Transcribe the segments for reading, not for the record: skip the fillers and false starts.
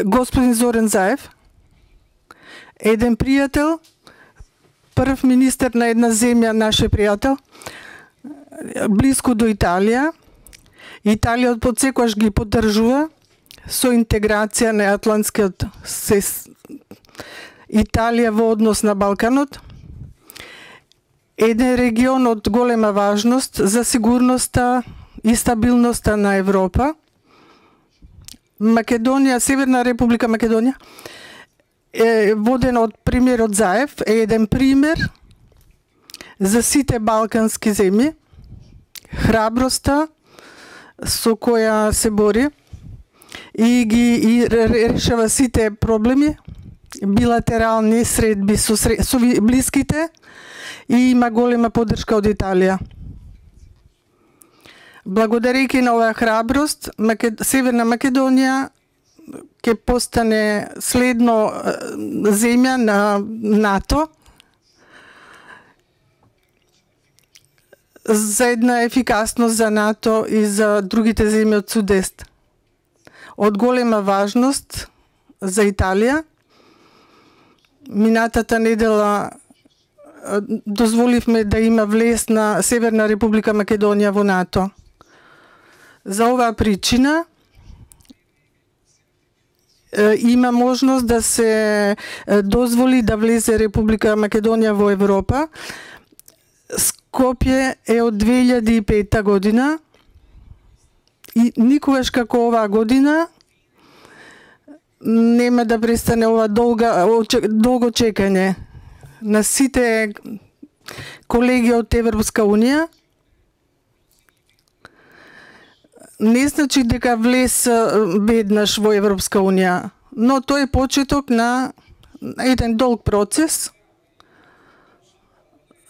Господин Зоран Заев, еден пријател, прв министер на една земја, наше пријател, близко до Италија. Италија од подсекогаш ги поддржува со интеграција на Атлантскиот Италија во однос на Балканот. Еден регион од голема важност за сигурноста и стабилноста на Европа. Македонија, Северна Република Македонија, водена од премиерот Заев, е еден пример за сите балкански земји, храброста со која се бори и ги решава сите проблеми, билатерални средби со блиските, и има голема поддршка од Италија. Благодарејќи на оваа храброст, Северна Македонија ќе постане следно земја на НАТО за една ефикасност за НАТО и за другите земји од Судест. Од голема важност за Италија. Минатата недела дозволивме да има влез на Северна Република Македонија во НАТО. За оваа причина има можност да се дозволи да влезе Република Македонија во Европа. Скопје е од 2005 година и никогаш како оваа година нема да престане ова долго чекање на сите колеги од Европска Унија. Не значи дека влез веднаш во Европска Унија, но тој е почеток на еден долг процес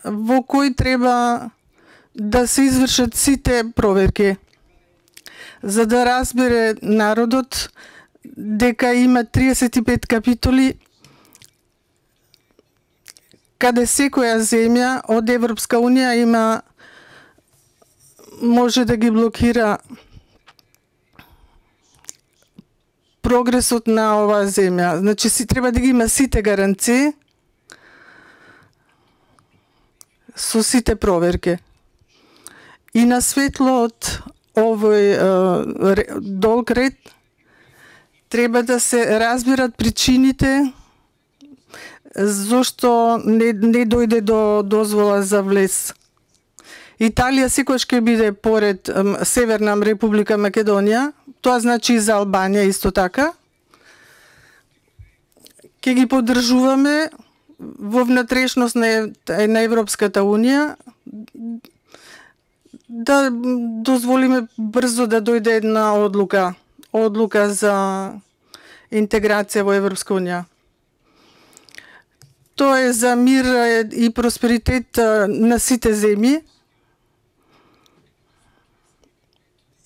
во кој треба да се извршат сите проверки, за да разбере народот дека има 35 капитоли каде секоја земја од Европска Унија може да ги блокира прогресот на оваа земја. Значи треба да ги има сите гаранции со сите проверки. И на светло од овој долг ред треба да се разберат причините зошто не дојде до дозвола за влез. Италија секогаш ќе биде поред Северна Република Македонија, тоа значи и за Албанија исто така. Ќе ги поддржуваме во внатрешност на Европската Унија, да дозволиме брзо да дојде една одлука за интеграција во Европска Унија. Тоа е за мир и просперитет на сите земји.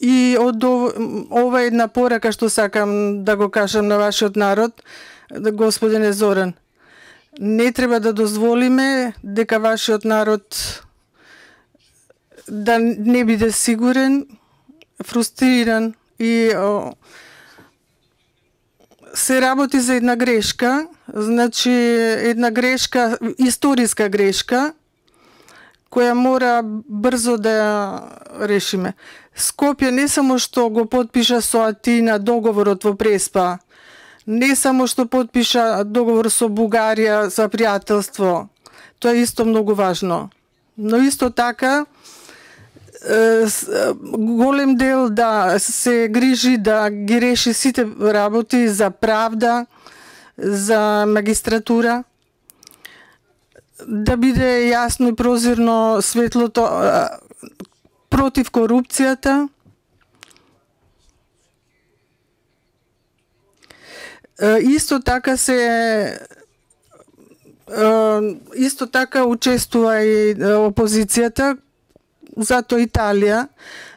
И од ова една порака што сакам да го кажам на вашиот народ, господине Зоран. Не треба да дозволиме дека вашиот народ да не биде сигурен, фрустриран и се работи за една грешка, значи една грешка, историска грешка, која мора брзо да ја решиме. Скопје не само што го потпиша со Атина договорот во Преспа, не само што потпиша договор со Бугарија за пријателство, тоа е исто многу важно. Но исто така голем дел да се грижи да ги реши сите работи за правда, за магистратура, да биде јасно и прозирно светлото против корупцијата. Исто така учествува и опозицијата, затоа Италија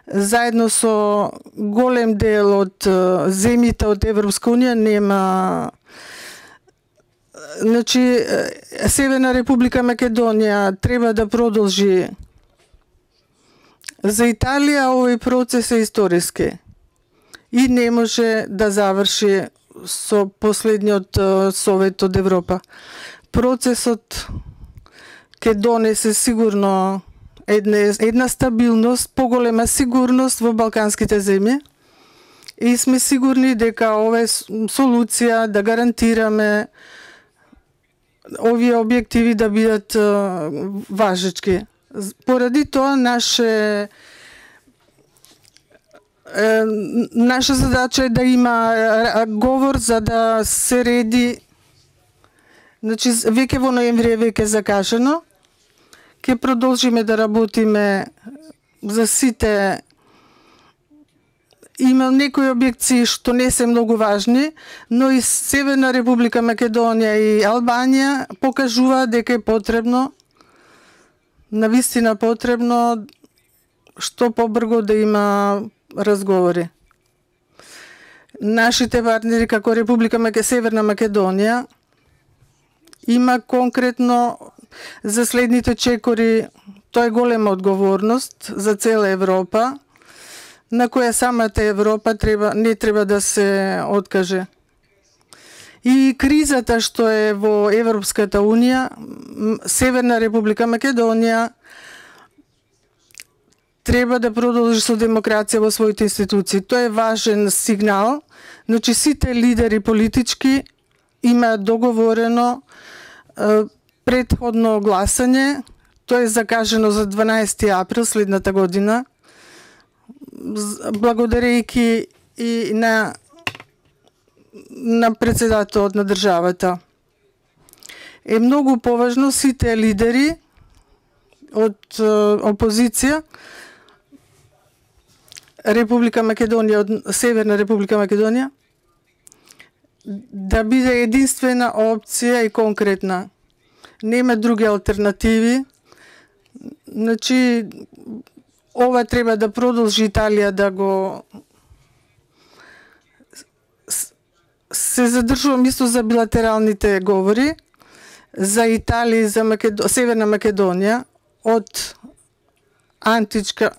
заедно со голем дел од земјите од Европска Унија нема. Значи Северна Република Македонија треба да продолжи. За Италија овој процес е историски и не може да заврши со последниот Совет од Европа. Процесот ќе донесе сигурно една стабилност, поголема сигурност во балканските земји и сме сигурни дека ова е солуција да гарантираме овие објективи да бидат важечки. Поради тоа наша задача е да има говор за да се реди. Значи, веќе во ноември е веќе закажано. Ќе продолжиме да работиме за сите. Има некои објекции што не се многу важни, но и Северна Република Македонија и Албанија покажува дека е потребно, навистина потребно, што побрзо да има разговори. Нашите партнери како Република Северна Македонија има конкретно за следните чекори, тоа е голема одговорност за цела Европа, на која самата Европа не треба да се откаже. И кризата што е во Европската Унија, Северна Република Македонија треба да продолжи со демокрација во своите институции. Тоа е важен сигнал. Значи, сите лидери политички имаат договорено претходно гласање. Тоа е закажано за 12 април следната година. Благодарејќи и на председателот на државата. Е многу поважно сите лидери од опозиција, Република Македонија, од Северна Република Македонија, да биде единствена опција и конкретна. Нема други алтернативи. Значи, ова треба да продолжи Италија да го се задржувам исто за билатералните говори за Италија и за Северна Македонија од античка.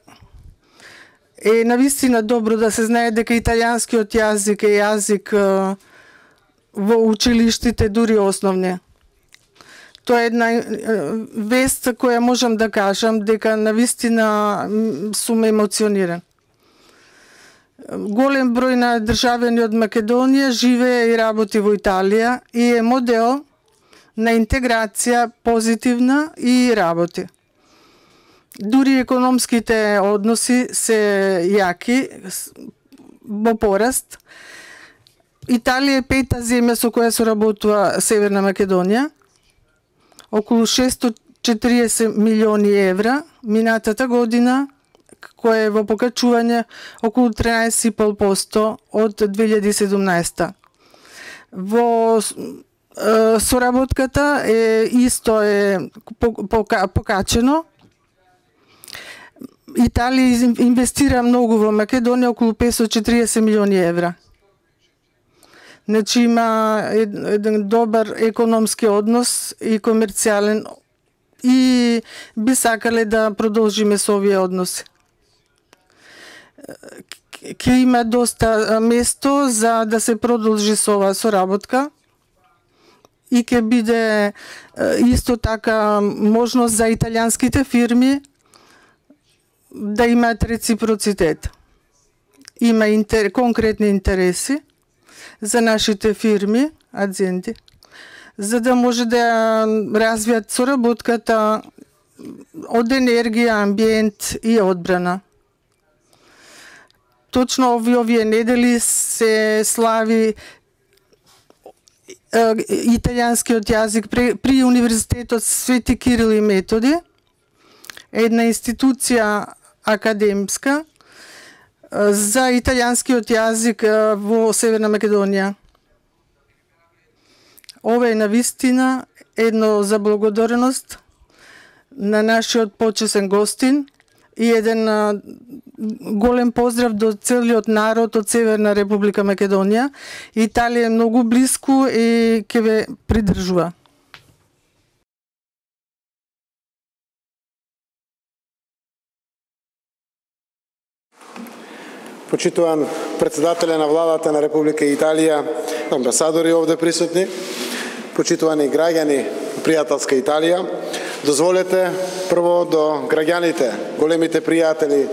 Е навистина добро да се знае дека италијанскиот јазик е јазик во училиштите, дури основни. Тоа е една вест која можам да кажам дека навистина сум емоциониран. Голем број на државјани од Македонија живее и работи во Италија и е модел на интеграција позитивна и работи. Дури економските односи се јаки, во пораст. Италија е пета земја со која соработува Северна Македонија. Околу 640 милиони евра минатата година, која е во покачување околу 13,5% од 2017. Во соработката исто е покачено. Италија инвестира многу во Македонија, околу 540 милиони евра. Значи има еден добар економски однос и комерцијален и би сакале да продолжиме со овие односи. Ќе има доста место за да се продолжи со оваа соработка и ќе биде исто така можност за италијанските фирми да имаат реципроцитет. Има конкретни интереси за нашите фирми, адзенти, за да може да развијат соработката од енергија, амбиент и одбрана. Точно овие недели се слави италијанскиот јазик при Универзитетот Свети Кирил и Методи, една институција академска за италијанскиот јазик во Северна Македонија. Ова е навистина едно заблагодарност на нашиот почесен гостин и еден голем поздрав до целиот народ од Северна Република Македонија. Италија е многу блиску и ќе ве придржува. Почитуван председателе на владата на Република Италија, амбасадори овде присутни, почитувани граѓани пријателска Италија, дозволете прво до граѓаните, големите пријатели,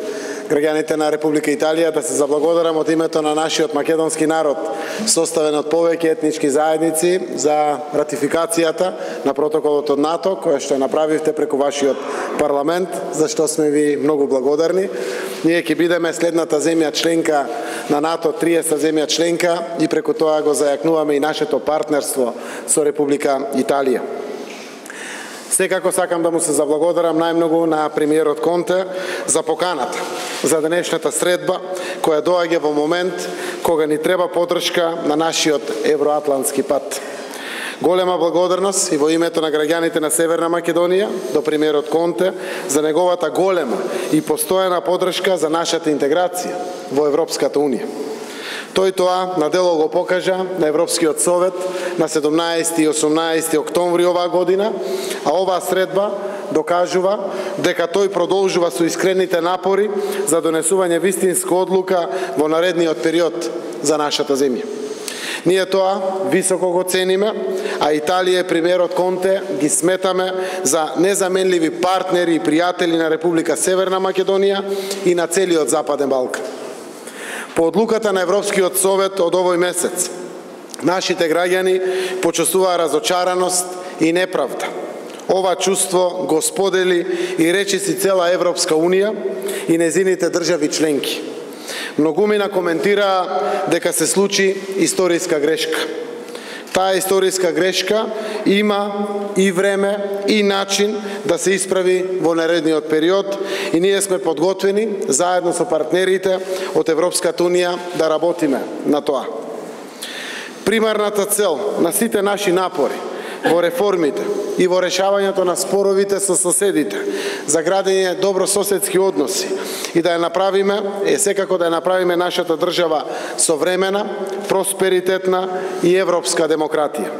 граѓаните на Република Италија да се заблагодарам од името на нашиот македонски народ, составен од повеќе етнички заедници, за ратификацијата на протоколот од НАТО, која што направивте преку вашиот парламент, за што сме ви многу благодарни. Ние ќе бидеме следната земја членка на НАТО, 30 земја членка, и преку тоа го зајакнуваме и нашето партнерство со Република Италија. Секако сакам да му се заблагодарам најмногу на премиерот Конте за поканата за денешната средба, која доаѓа во момент кога ни треба поддршка на нашиот евроатлантски пат. Голема благодарност и во името на граѓаните на Северна Македонија до премиерот Конте за неговата голема и постојана поддршка за нашата интеграција во Европската Унија. Тој тоа на дело го покажа на Европскиот совет на 17 и 18 октомври оваа година, а оваа средба докажува дека тој продолжува со искрените напори за донесување вистинска одлука во наредниот период за нашата земја. Ние тоа високо го цениме, а Италија и премиерот Конте ги сметаме за незаменливи партнери и пријатели на Република Северна Македонија и на целиот Западен Балкан. По одлуката на Европскиот совет од овој месец, нашите граѓани почувствуваа разочараност и неправда. Ова чувство го сподели и речиси цела Европска Унија и незините држави членки. Многумина коментираа дека се случи историска грешка. Таа историска грешка има и време и начин да се исправи во наредниот период и ние сме подготвени заедно со партнерите од Европската Унија да работиме на тоа. Примарната цел на сите наши напори во реформите и во решавањето на споровите со соседите, за градење добрососедски односи и да ја направиме, секако да ја направиме нашата држава современа, просперитетна и европска демократија.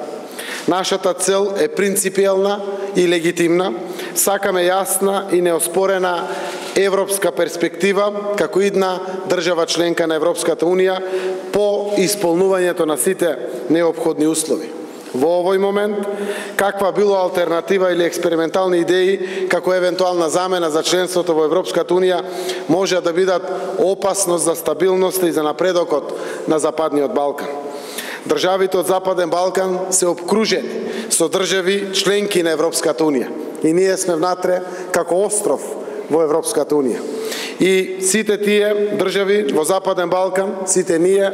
Нашата цел е принципиелна и легитимна, сакаме јасна и неоспорена европска перспектива како една држава членка на Европската Унија по исполнувањето на сите неопходни услови. Во овој момент, каква било алтернатива или експериментални идеи како евентуална замена за членството во Европската Унија може да бидат опасност за стабилноста и за напредокот на Западниот Балкан. Државите од Западен Балкан се обкружени со држави членки на Европската Унија и ние сме внатре како остров во Европската Унија. И сите тие држави во Западен Балкан, сите ние,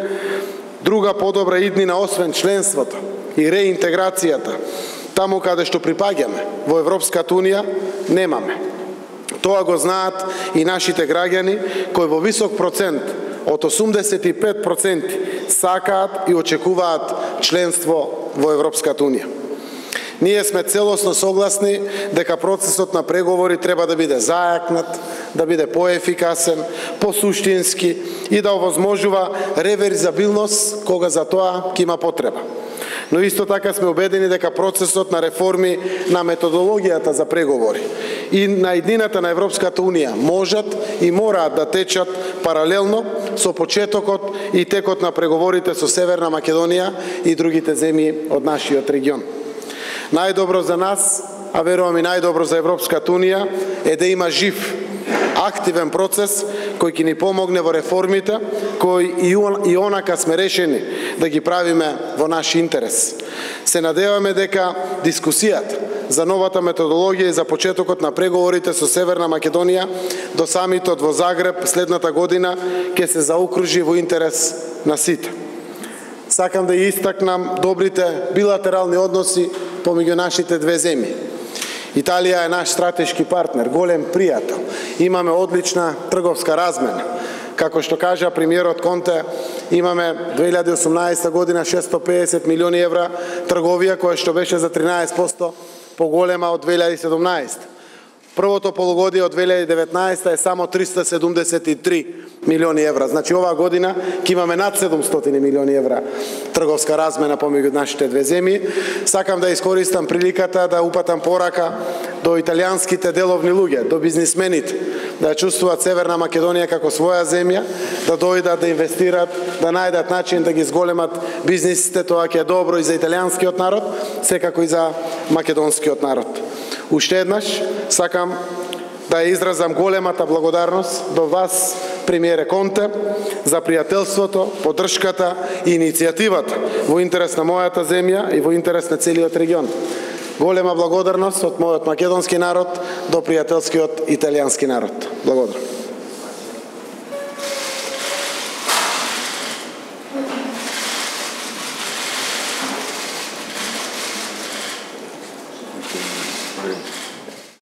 друга подобра иднина освен членството и реинтеграцијата, таму каде што припаѓаме во Европската Унија, немаме. Тоа го знаат и нашите граѓани, кои во висок процент, од 85%, сакаат и очекуваат членство во Европската Унија. Ние сме целосно согласни дека процесот на преговори треба да биде зајакнат, да биде поефикасен, посуштински и да овозможува реверзабилност кога за тоа ќе има потреба. Но исто така сме убедени дека процесот на реформи на методологијата за преговори и на иднината на Европската Унија можат и мораат да течат паралелно со почетокот и текот на преговорите со Северна Македонија и другите земји од нашиот регион. Најдобро за нас, а верувам и најдобро за Европската Унија, е да има жив, активен процес кој ќе ни помогне во реформите, кои и онака сме решени да ги правиме во наш интерес. Се надеваме дека дискусијата за новата методологија и за почетокот на преговорите со Северна Македонија до самитот во Загреб следната година ќе се заокружи во интерес на сите. Сакам да ја истакнам добрите билатерални односи помеѓу нашите две земји. Италија е наш стратешки партнер, голем пријател. Имаме одлична трговска размена. Како што кажа премиерот Конте, имаме 2018 година 650 милиони евра трговија, која што беше за 13% поголема од 2017. Првото полугодие од 2019 е само 373 милиони евра. Значи оваа година ќе имаме над 700 милиони евра трговска размена помеѓу нашите две земји. Сакам да искористам приликата да упатам порака до италијанските деловни луѓе, до бизнисмените, да ја чувствуваат Северна Македонија како своја земја, да дојдат, да инвестираат, да најдат начин да ги зголемат бизнисите, тоа ќе е добро и за италијанскиот народ, секако и за македонскиот народ. Уште еднаш сакам да ја изразам големата благодарност до вас, премиере Конте, за пријателството, поддршката и иницијативата во интерес на мојата земја и во интерес на целиот регион. Голема благодарност од мојот македонски народ до пријателскиот италијански народ. Благодарам.